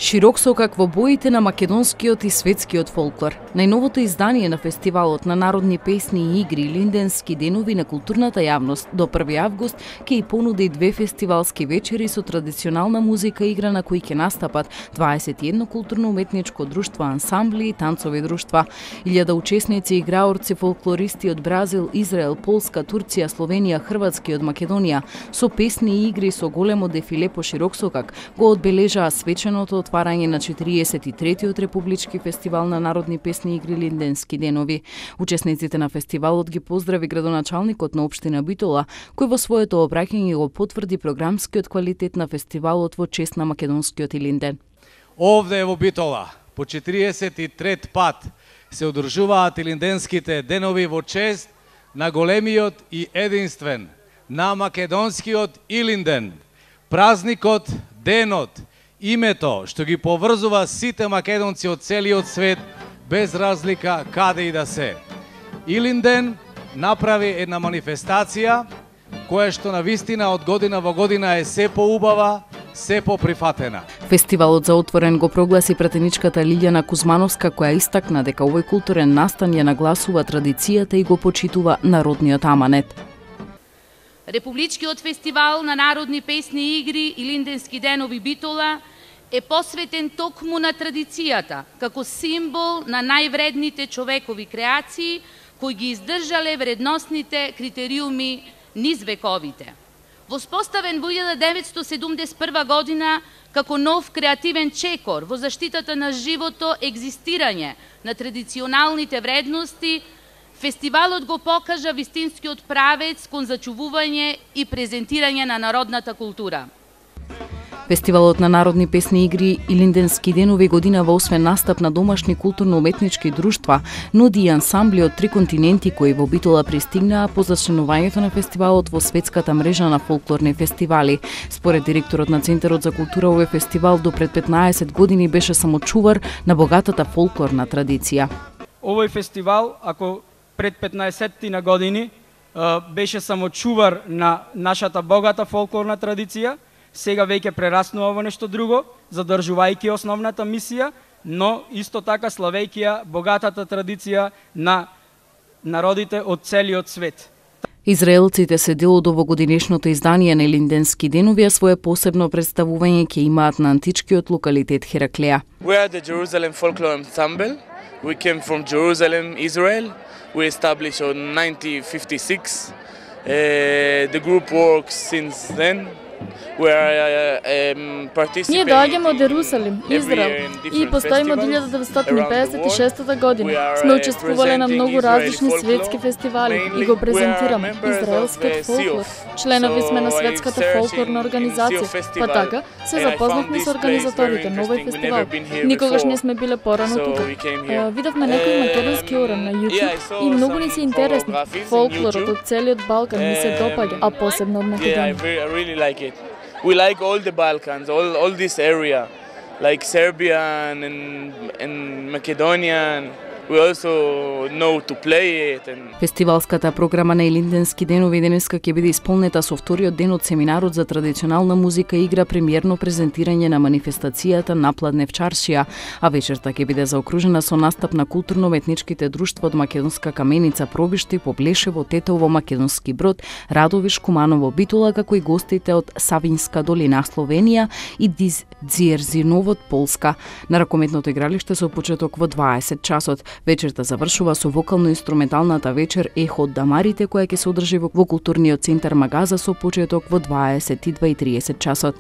Широк сокак во боите на македонскиот и светскиот фолклор. Најновото издание на фестивалот на народни песни и игри Илинденски денови на културната јавност до 1 август ќе и понуди 2 фестивалски вечери со традиционална музика и игра на кои ќе настапат 21 културно-уметничко друштво, ансамбли и танцови друштва. 1000 учесници и играорци фолклористи од Бразил, Израел, Полска, Турција, Словенија, Хрватска и од Македонија со песни и игри со големо дефиле по широк сокак го одбележаа свеченото отварање на 43-тиот републички фестивал на народни песни и игри Илинденски денови. Учесниците на фестивалот ги поздрави градоначалникот на општина Битола, кој во своето обраќање го потврди програмскиот квалитет на фестивалот во чест на македонскиот Илинден. Овде во Битола по 43 пат се одржуваат Илинденските денови во чест на големиот и единствен, на македонскиот Илинден. Празникот, денот, името што ги поврзува сите македонци од целиот свет без разлика каде и да се. Илинден направи една манифестација која што на вистина од година во година е се поубава, се поприфатена. Фестивалот за отворен го прогласи пратеничката Лилјана Кузмановска, која истакна дека овој културен настан ја нагласува традицијата и го почитува народниот аманет. Републичкиот фестивал на народни песни и игри Илинденски денови Битола е посветен токму на традицијата, како символ на највредните човекови креации, кои ги издржале вредносните критериуми низ вековите. Воспоставен во 1971 година како нов креативен чекор во заштитата на живото екзистирање на традиционалните вредности, фестивалот го покажа вистинскиот правец кон зачувување и презентирање на народната култура. Фестивалот на народни песни и игри Илинденски денови годинава освен настап на домашни културно-уметнички друштва, нуди и ансамбли од 3 континенти кои во Битола пристигнаа по зачленувањето на фестивалот во светската мрежа на фолклорни фестивали. Според директорот на Центарот за култура, овој фестивал до пред 15 години беше само чувар на богатата фолклорна традиција. Овој фестивал, ако пред 15 на години беше само чувар на нашата богата фолклорна традиција, сега веќе прераснува во нешто друго, задржувајќи основната мисија, но исто така славејќи ја богатата традиција на народите од целиот свет. Израелците се дел од овогодинешното издание на Илинденски денови, а свое посебно представување ќе имаат на античкиот локалитет Хераклеја. We are the Jerusalem Folklore Ensemble. We came from Jerusalem, Israel. We established in 1956. The group works since then. Ние доаѓаме од Јерусалим, Израел, и постоиме од 1956 година. Сме учествувале на многу различни светски фестивали и го презентираме израелскиот фолклор. Членови сме на светската фолклорна организација, па така се запознавме со организаторите на овој фестивал. Никогаш не сме биле порано тука. Видовме некои македонски уран на YouTube и многу ни се интересни. Фолклорот од целиот Балкан ми се допаѓа, а посебно од Македонија. We like all the Balkans, all this area, like Serbia and Macedonia. We also know to play it. Фестивалската програма на Илинденски денови денеска ќе биде исполнета со вториот ден од семинарот за традиционална музика и игра, премиерно презентирање на манифестацијата Напладнев чаршија, а вечерта ќе биде заокружена со настап на културно-уметничките друштва од Македонска Каменица, Пробишти, Поблешево, Тетово, Македонски Брод, Радовиш, Куманово, Битола, како и гостите од Савинска долина, Словенија и Дзиерзиновот, Полска. На ракометното игралиште со почеток во 20 часот. Вечерта завршува со вокално-инструменталната вечер Ехо од Дамарите, која ќе се одржи во културниот центар Магаза со почеток во 22:30 часот.